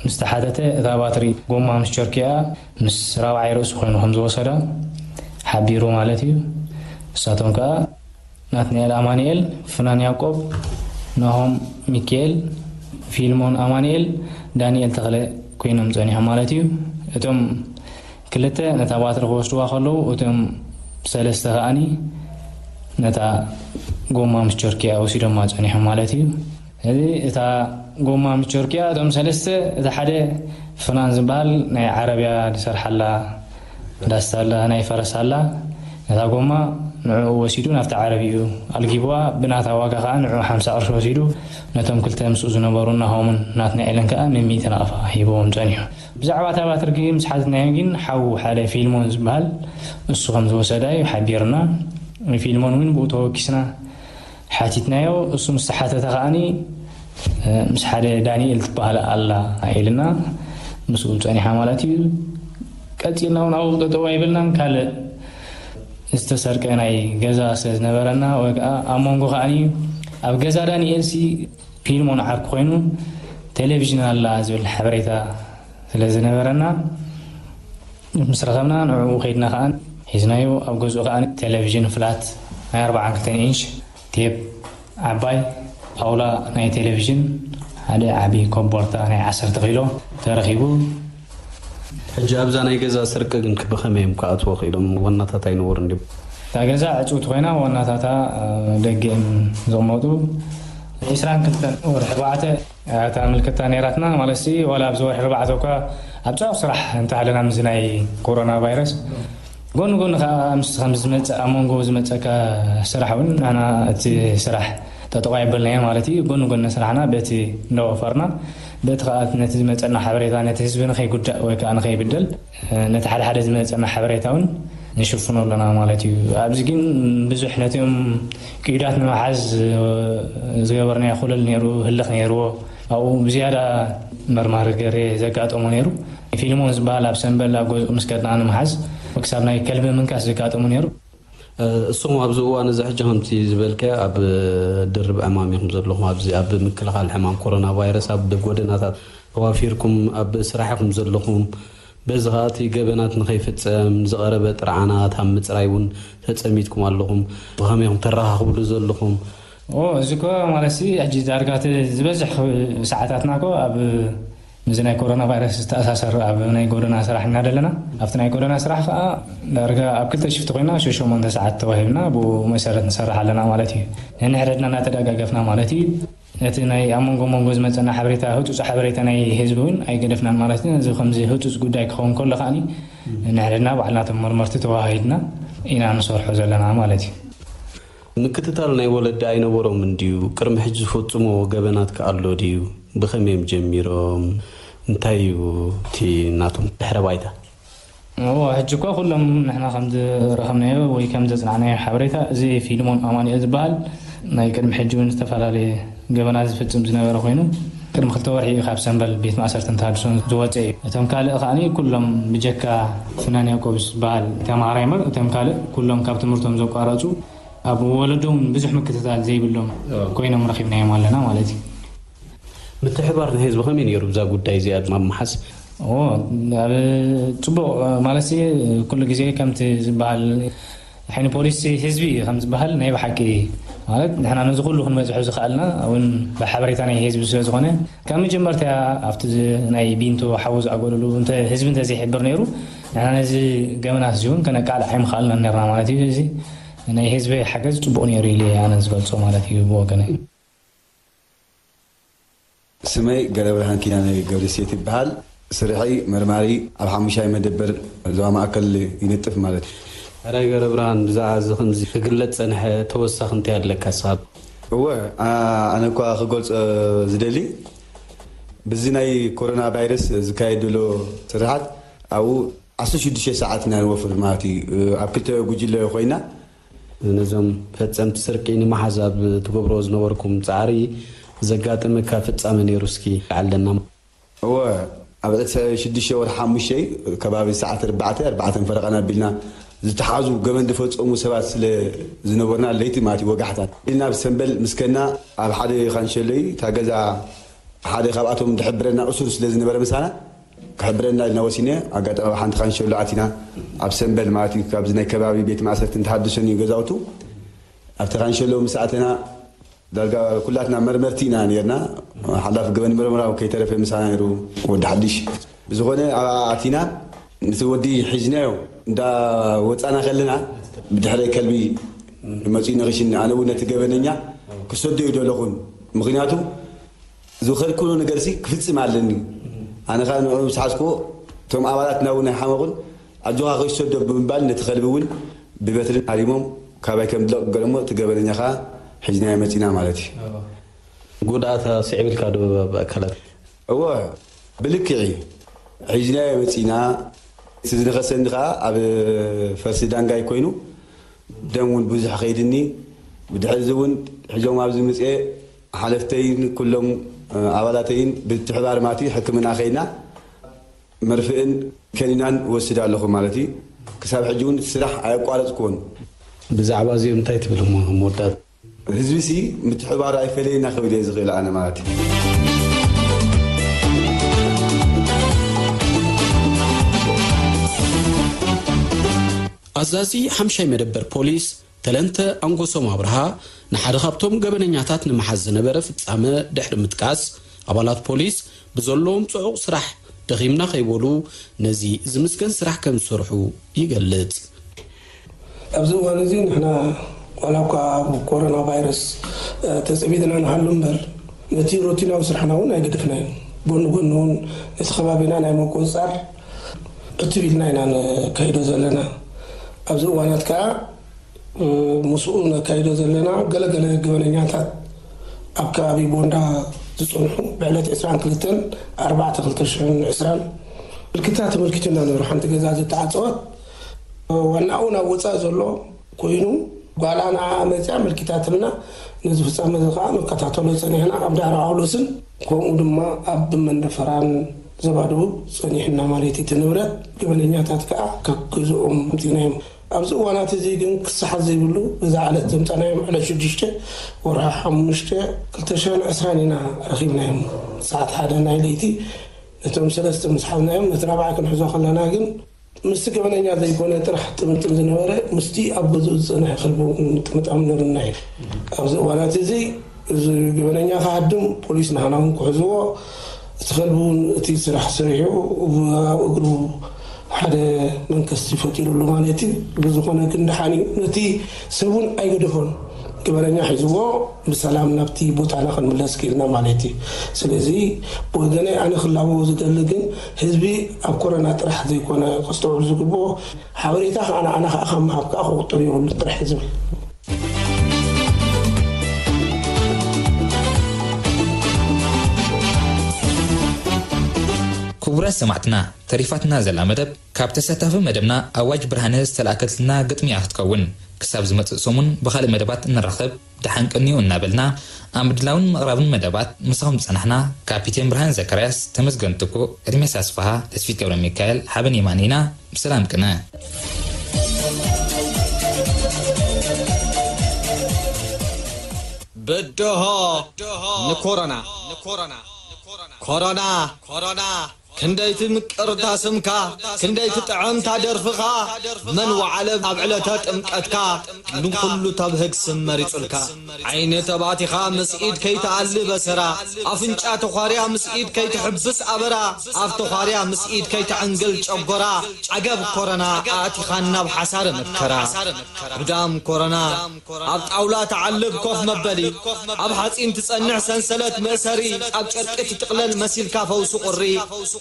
ምስ ተሓተተ፣ እታ ባትሪ ጎማ ምስ ቸርኪኣ ምስ ራብዓይ ርእሱ ኮይኑ ከም ዝወሰዳ ሓቢሩ ማለት እዩ። ንሳቶም ከኣ ናትናኤል ኣማኑኤል፣ ፍናን ያዕቆብ፣ ናሆም ሚካኤል፣ ፊልሞን ኣማኑኤል፣ ዳንኤል ተኽለ ኮይኖም ጸኒሖም ማለት እዩ። እቶም ክልተ ነታ ባትሪ ክወስድዋ ከለዉ፣ እቶም ሰለስተ ከኣኒ ነታ ጎማ ምስ ቸርኪኣ ወሲዶማ ጸኒሖም ማለት እዩ። እዚ እታ ጎማ ምስ ቸርኪኣ፣ እቶም ሰለስተ፣ እቲ ሓደ ፍናን ዝበሃል ናይ ዓረብያ ዝሰርሓላ ዳስታ ኣላ፣ ናይ ፈረስ ኣላ። ነታ ጎማ ንዕኡ ወሲዱ ናብቲ ዓረብይኡ ኣልጊብዋ፣ ብናታ ዋጋ ከኣ ንዕኡ ሓምሳ ቅርሺ ወሲዱ፣ ነቶም ክልተ ምስኡ ዝነበሩ ናሆምን ናትናኤልን ከኣ ሚእቲ ናቕፋ ሂብዎም ጸኒሑ። ብዛዕባ እታ ባትሪ ግን ምስ ሓተትናዮ ግን ሓዉ ሓደ ፊልሞን ዝበሃል እሱ ከም ዝወሰዳ እዩ ሓቢርና። ፊልሞን እውን ብኡ ተወኪስና ሓቲትናዮ። እሱ ምስ ተሓተተ ከኣኒ፣ እ፣ ምስ ሓደ ዳንኤል ትበሃል ኣላ ኢልና ምስኡ ጸኒሓ ማለት እዩ። ቀጺልና እውን ኣብኡ ጠጠው ኣይበልናን። ካልእ ዝተሰርቀ ናይ ገዛ ስለ ዝነበረና ወይ ከዓ ኣብ መንጎ ከኣኒ ኣብ ገዛ ዳንኤል ሲ ፊልሞን ዓርኩ ኮይኑ ቴሌቪዥን ኣላ ዝብል ሓበሬታ ስለ ዝነበረና ምስ ረኸብና ንዕኡ ከይድና ከኣ ሒዝናዮ። ኣብ ገዝኡ ከኣ ቴሌቪዥን ፍላት ናይ ኣርባዓን ክልተን ኢንሽ ቴፕ ዓባይ ጣውላ ናይ ቴሌቪዥን፣ ሓደ ዓቢ ኮቦርታ ናይ ዓሰርተ ኪሎ ተረኺቡ። ሕጂ ኣብዛ ናይ ገዛ ስርቂ ግን ብኸመይ እዮም ክኣትዎ ክኢሎም? ዋናታት ኣይነበሩን ድዮም? እታ ገዛ ዕጽውቲ ኮይና ዋናታታ፣ እ፣ ደገ እዮም ዝቕመጡ። ዕስራን ክልተን ወርሒ ኣርባዕተ እታ ምልክታ ነይራትና፣ ማለትሲ ዋላ ኣብዚ ወርሒ ኣርባዕተ እኳ ኣብ ጽዑቕ ስራሕ እንተሃለና ምስዚ ናይ ኮሮና ቫይረስ፣ ጎኒ ጎኒ ከኣ ምስ ከም ዝመጽእ ኣብ መንጎ ዝመጸካ ስራሕ እውን ንሕና እቲ ስራሕ ጠጠው ኣይበልናዮ ማለት እዩ። ጎኒ ጎኒ ስራሕና በቲ እንዳወፈርና፣ በቲ ከኣ ነቲ ዝመጸና ሓበሬታ ነቲ ህዝቢ ንኸይጉዳእ ወይ ከኣ ንኸይብደል፣ ነቲ ሓደ ሓደ ዝመጸና ሓበሬታ እውን ንሽፍኖ ኣለና ማለት እዩ። ኣብዚ ግን ብዙሕ ነቲኦም ቅዩዳት ንምሓዝ ዝገበርናዮ ኩለል ነይሩ፣ ህልኽ ነይርዎ። ኣብኡ ብዝያዳ መርማሪ ገሬ ዘጋጠሞ ነይሩ። ፊልሞን ዝበሃል ኣብ ሰምበል ኣብ ገዝኡ ምስ ከድና ንምሓዝ ክሳብ ናይ ከልቢ ምንካስ ዘጋጠሞ ነይሩ። እ፣ እስኹም ኣብዚ እዋን እዚ ሕጂ ከምቲ ዝበልካዮ ኣብ ድርብ ዕማም ኢኹም ዘለኹም። ኣብዚ ኣብ ምክልኻል ሕማም ኮሮና ቫይረስ ኣብ ጎደናታት ተዋፊርኩም ኣብ ስራሕ ኢኹም ዘለኹም። በዚ ኸኣ እቲ ገበናት ንኸይፍጸም ዝቐረበ ጥርዓናት ኣብ ምጽራይ እውን ተጸሚድኩም ኣለኹም። ብኸመይ ኢኹም ተረኻኽብሉ ዘለኹም? ኦ፣ እዚ እኮ ማለት ሲ፣ ሕጂ ዳርጋ እቲ ዝበዝሕ ኽ-፣ ሰዓታትና እኮ ኣብ፣ ምስዚ ናይ ኮሮና ቫይረስ ዝተኣሳሰር ኣብ ናይ ጎደና ስራሕ ኢና ዘለና። ኣብቲ ናይ ጎደና ስራሕ ከኣ ዳርጋ ኣብ ክልተ ሽፍቲ ኮይና ሸሞንተ ሰዓት ተዋሂብና፣ ብኡ መሰረት ንሰርሕ ኣለና ማለት እዩ። ነንሕድሕድና እናተደጋገፍና ማለት እዩ። ነቲ ናይ ኣብ መንጎ መንጎ ዝመጸና ሓበሬታ፣ ህጹጽ ሓበሬታ ናይ ህዝቢ እውን ኣይገደፍናን ማለት እዩ። እዚ ከምዚ ህጹጽ ጉዳይ ክኸውን ከሎ ከኣኒ፣ ነንሕድሕድና ባዕልና እቶም መርመርቲ ተዋሃሂድና ኢና ንሰርሖ ዘለና ማለት እዩ። ምክትታል ናይ ወለዲ ኣይነበሮምን ድዩ? ቅድሚ ሕጂ ዝፈጽምዎ ገበናት ከ ኣሎ ድዩ? ብኸመይ እዮም ጀሚሮም? እንታይ እዩ እቲ ናቶም ድሕረ ባይታ? እዎ፣ ሕጂ እኳ ኩሎም ንሕና ከም ዝረኸብናዮ ወይ ከም ዘጽናዕናዮ ሓበሬታ፣ እዚ ፊልሞን ኣማኑኤል ዝበሃል ናይ ቅድሚ ሕጂ እውን ዝተፈላለየ ገበናት ዝፍጽም ዝነበረ ኮይኑ፣ ቅድሚ ክልተ ወርሒ እዩ ካብ ሰምበል ቤት ማእሰርትን ተሃድሶን ዝወጸ እዩ። እቶም ካልእ ከኣኒ ኩሎም ብጀካ ፍናን ያዕቆብ ዝበሃል ተማሃራይ እምበር፣ እቶም ካልእ ኩሎም ካብ ትምህርቶም ዘቋረጹ፣ ኣብ ወለዶም ብዙሕ ምክትታል ዘይብሎም ኮይኖም ረኺብናዮም ኣለና ማለት እዩ። ምትሕብባር ናይ ህዝቢ ከመይ ነይሩ ብዛ ጉዳይ እዚኣ ድማ ኣብ ምሓዝ? ኦ፣ ኣብ ጽቡቕ ማለት ሲ፣ ኩሉ ግዜ ከምቲ ዝበሃል ዓይኒ ፖሊስ ህዝቢ እዩ ከም ዝበሃል ናይ ብሓቂ ማለት ንሕና ነዚ ኩሉ ክንበጽሖ ዝኸኣልና እውን ብሓበሬታ ናይ ህዝቢ ስለ ዝኾነ ካብ መጀመርታ ኣብቲ ዝ-፣ ናይ ቢንቶ ሓዊ ዝኣገሉሉ እንተ ህዝቢ እንተ ዘይሕብር ነይሩ ንሕና ነዚ ገበናት እዚ እውን ከነቃልዕ ኣይምኸኣልናን ነርና ማለት እዩ። እዚ ናይ ህዝቢ ሓገዝ ጽቡቕ ነይሩ ኢለ እየ ኣነ ዝገልጾ ማለት እዩ ብወገነይ። ስመይ ገረብርሃን ኪዳነ ገብረሴት ይበሃል። ስርሐይ መርማሪ ኣብ ሓሙሻይ መደበር ዞባ ማእከል ይነጥፍ ማለት እዩ። ሕራይ ገረብርሃን፣ ብዛዕባ እዚ ከምዚ ክግለጽ ጸንሐ ተወሳኺ እንታይ ኣለካ ንስኻ? እወ፣ ኣ-፣ ኣነ እኳ ክገልጾ ዝደሊ፣ ብዚ ናይ ኮሮና ቫይረስ ዝካየድ ዘሎ ስርሓት ኣብኡ ዓሰርተ ሽዱሽተ ሰዓት ኢና ንወፍር ማለት እዩ። ኣብ ክልተ ጉጅለ ኮይና ነዞም ፈጸምቲ ስርቂ ንምሓዝ ኣብ ትገብሮ ዝነበርኩም ጻዕሪ ዘጋጠመካ ፍጻመ ነይሩ እስኪ ኣለና። እወ፣ ኣብ ዕለት ሽዱሽተ ወርሒ ሓሙሽተ ከባቢ ሰዓት ኣርባዕተ ኣርባዕተን ፈረቓን ኣቢልና ዝተሓዙ ገበን ዝፈጸሙ ሰባት ስለ ዝነበርና ለይቲ ማለት እዩ ወጋሕታ ኢልና ብሰንበል ምስከና ኣብ ሓደ ካንሸሎ እዩ እታ ገዛ ሓደ ካብኣቶም ዝሕብረና እሱር ስለ ዝነበረ ምሳና ክሕብረና ኢልና ወሲነ ኣጋጣሚ ኣብ ሓንቲ ካንሸሎ ኣቲና ኣብ ሰንበል ማለት እዩ ካብዚ ናይ ከባቢ ቤት ማእሰርቲ እንተሃድሶን እዩ ገዛውቱ ኣብቲ ካንሸሎ ምስ ኣተና ዳርጋ ኩላትና መርመርቲ ኢና ነርና ሓላፍ ገበን መርመራ ከይተረፈ ምሳና ነሩ ወዲ ሓድሽ ብዝኾነ ኣቲና ነቲ ወዲ ሒዝናዮ እንዳ ወፃና ከለና ብድሕረ ከልቢ መፂኡ ንኽሽኒ ኣነ እውን ነቲ ገበነኛ ክሰዶ እዩ ደለኹን ምክንያቱ ዝኸልክሎ ነገርሲ ክፍፅም ኣለኒ ኣነ ከዓ ንዑ ዝሓዝክዎ እቶም ኣባላት ናብ ናይ ሓመቑን ኣጆኻ ከይሰዶ ብምባል ነቲ ከልቢ እውን ብበትርን ሃሪሞም ካባይ ከም ድለቕ ገለሞ እቲ ገበነኛ ከዓ ሒዝናዮ መፂና ማለት እዩ። ጉድኣት ስዒብልካ ዶ ብኣካላት? እወ ብልክዕ እዩ ሒዝናዮ መፂና እቲ ዝነኸሰኒ ከዓ ኣብ ፈርሲ ዳንጋይ ኮይኑ ደም እውን ብዙሕ ከይድኒ ብድሕዚ እውን ሒዞም ኣብዚ ምፅኤ ሓለፍተይን ኩሎም ኣባላተይን ብትሕባር ማቲ ሕክምና ከይና መርፍእን ከኒናን እወስድ ኣለኹ ማለት እዩ። ክሳብ ሕጂ እውን እቲ ስራሕ ኣየቋረፅኩዎን። ብዛዕባ እዚኦም እንታይ ትብል እሞ መወዳእታ? ህዝቢሲ ምትሕባሩ ኣይፈለየና ክብል እየ ዝኽእል ኣነ ማለት እዩ። ኣዛዚ ሓምሻይ መደበር ፖሊስ ተለንተ ኣንጎሶም ኣብርሃ ንሓደ ካብቶም ገበነኛታት ንምሓዝ ዝነበረ ፍጻመ ድሕሪ ምጥቃስ፣ ኣባላት ፖሊስ ብዘለዎም ጽዑቕ ስራሕ ደኺምና ከይበሉ ነዚ ዝምስገን ስራሕ ከም ዝሰርሑ ይገልጽ። ኣብዚ እዋን እዚ ንሕና ዋላ እኳ ኣብ ኮሮና ቫይረስ ተጸሚድና ንሃሉ እምበር ነቲ ሮቲናዊ ስራሕና እውን ኣይገደፍናዮ። ጎኒ ጎኒ እውን ነቲ ከባቢና ናይ ምቁጽጻር ዕትብ ኢልና ኢና ነካይዶ ዘለና። ኣብዚ እዋናት ከዓ ምስኡ ነካይዶ ዘለና ገለገለ ገበነኛታት ኣብ ከባቢ ቦንዳ ዝፀንሑ ብዕለት ዕስራን ክልተን ኣርባዕተ ክልተ ሽሕን ዕስራን ምልክታ ተመልኪቱና ነይሩ። ሓንቲ ገዛ ዝተዓፀወት ዋናኡ ናብ ወፃኢ ዘሎ ኮይኑ ጓላ ንዓ መፅያ ኣመልኪታትልና። ነዚ ፍፃመ እዚ ከዓ ንከታተሎ ፀኒሕና ኣብ ዳዕሮ ጳውሎስን ከምኡ ድማ ኣብ መንደፈራን ዞባ ደቡብ ፀኒሕና ማለት እዩ። እቲ ንብረት ገበነኛታት ከዓ ካብ ገዝኦም ኣምፂእናዮም። ኣብዚ እዋናት እዚ ግን ክሰሓት ዘይብሉ በዛ ዕለት ዘምፃናዮም ዕለት ሽዱሽተ ወርሒ ሓሙሽተ ክልተ ሽሕን ዕስራን ኢና ረኺብናዮም። ሰዓት ሓደ ናይ ለይቲ ነቶም ሰለስተ ምስ ሓዝናዮም ነቲ ራብዓይ ክንሕዞ ከለና ግን ምስቲ ገበነኛ ዘይኮነ ጥራሕ ጥምጥም ዝነበረ ምስቲ ኣብ ገዝኡ ዝፀንሐ ከልቢ እውን ምጥምጣም ነርና እዩ። ኣብዚ እዋናት እዚ እዚ ገበነኛ ክሃድም ፖሊስ ንሃና እውን ክሕዝዎ እቲ ከልቢ እውን እቲ ስራሕ ሰሪሑ ኣብ እግሩ ሓደ መንከስቲ ፈጢሩሉ ማለት እዩ። ብዝኾነ ግን ደሓን እዩ። ነቲ ሰብ እውን ኣይገደፎን። ገበነኛ ሒዝዎ ብሰላም ናብቲ ቦታና ክንምለስ ክኢልና ማለት እዩ። ስለዚ ብወገነይ ኣነ ክላበዎ ዝደሊ ግን ህዝቢ ኣብ ኮረና ጥራሕ ዘይኮነ ከስተውዕል ዝግብኦ ሓበሬታ ከዓ ንዓና ከዓ ካብ ምሃብ ከዓ ክቁጠብ የብሉ ጥራሕ ዝብል ክቡራት ሰማዕትና ተሪፋትና ዘላ መደብ ካብ ተሳታፊ መደብና ኣዋጅ ብርሃነ ዝተላእከትልና ግጥሚ እያ ክትከውን። ክሳብ ዝመጽእ ሰሙን ብኻልእ መደባት እንራኸብ ደሓን ቀንዩ እናበልና ኣብ ምድላውን ምቕራብን መደባት ምሳኹም ዝጸናሕና ካፒቴን ብርሃን ዘካርያስ፣ ተመስገን ትኩእ፣ ኤርሜስ ኣስፍሃ፣ ተስፊት ገብረ ሚካኤል፣ ሓበን የማነ ኢና። ብሰላም ቅነ። በደሆ ንኮሮና ኮሮና ኮሮና ክንደይ ትምቅር እታ ስምካ፣ ክንደይ ትጥዕም እታ ደርፍኻ፣ መን ወዓለ ኣብ ዕለተ ጥምቀትካ፣ ንኹሉ ተብህግ ስም መሪጹልካ። ዓይኒ ተባቲኻ ምስ ኢድ ከይትኣሊ በሰራ፣ ኣፍንጫ ተዃርያ ምስ ኢድ ከይትሕብስ ኣበራ፣ ኣፍ ተዃርያ ምስ ኢድ ከይትዕንግል ጨጎራ፣ ዓገብ ኮረና ኣእቲኻና ኣብ ሓሳረ መከራ። ጉዳም ኮረና ኣብ ጣውላ ትዓልብ ኮፍ መበሊ፣ ኣብ ሓጺን ትጸንዕ ሰንሰለት መእሰሪ፣ ኣብ ጨርቂ ትጥቕለል መሲልካ ፈውሲ ቁሪ።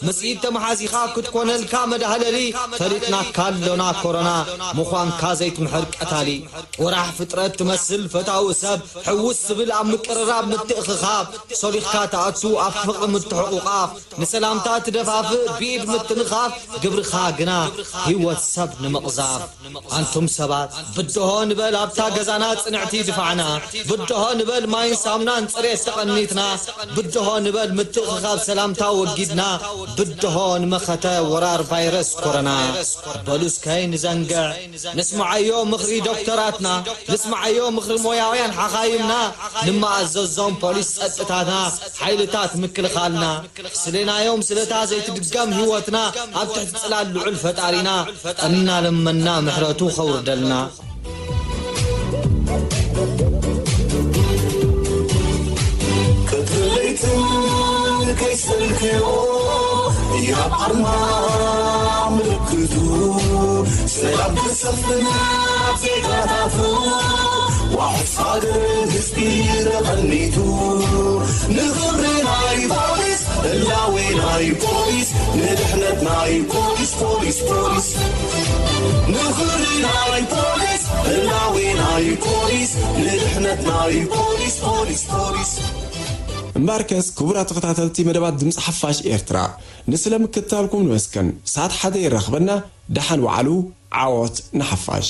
ምስ ኢድ ተመሓዚኻ ክትኮነልካ መዳህለሊ። ፈሊጥናካ ኣሎና ኮሮና ምዃንካ ዘይትምሕር ቀታሊ። ወራሕ ፍጥረት ትመስል ፈታዊ ሰብ ሕውስ ዝብል ኣብ ምቅርራብ ምትእኽኻብ። ሶሊኽካ ትኣቱ ኣብ ፍቕሪ ምትሕቑቓፍ። ንሰላምታ ትደፋፍእ ብኢድ ምትንኻፍ። ግብርኻ ግና ህይወት ሰብ ንምቕዛፍ። ኣንቱም ሰባት ብድሆ ንበል ኣብታ ገዛና ጽንዕቲ ድፋዕና። ብድሆ ንበል ማይን ሳምናን ጽሬት ተቐኒትና። ብድሆ ንበል ምትእኽኻብ ሰላምታ ወጊድና። ብድሆ ንመኸተ ወራር ቫይረስ ኮሮና። በሉ እስከይ ንዘንግዕ። ንስምዓዮ ምኽሪ ዶክተራትና። ንስምዓዮ ምኽሪ ሞያውያን ሓኻይምና። ንመኣዘዞም ፖሊስ ጸጥታትና። ሓይልታት ምክልኻልና። ስሌናዮም ስለታ ዘይትድገም ህይወትና። ኣብ ትሕቲ ጽላል ልዑል ፈጣሪና። እናለመና ምሕረቱ ኸውርደልና። ቀትርን ለይትን ከይሰልክዮ ያብ ኣርማ ምልክቱ ሰላም ክሰፍን ኣብ ዜጋታቱ ዋሕስ ሃገር ህዝቢ ተቐኒቱ ንኽብሪ ናይ ፖሊስ ህላዌ ናይ ፖሊስ ንድሕነት ናይ ፖሊስ ፖሊስ ፖሊስ ንኽብሪ ናይ ፖሊስ ህላዌ ናይ ፖሊስ ንድሕነት ናይ ፖሊስ ፖሊስ ፖሊስ እምበኣርከስ ክቡራት ተኸታተልቲ መደባት ድምፂ ሓፋሽ ኤርትራ ንስለ ምክትታልኩም ንመስገን። ሰዓት ሓደ የራኽበና። ደሓን ወዓሉ። ዓወት ንሓፋሽ።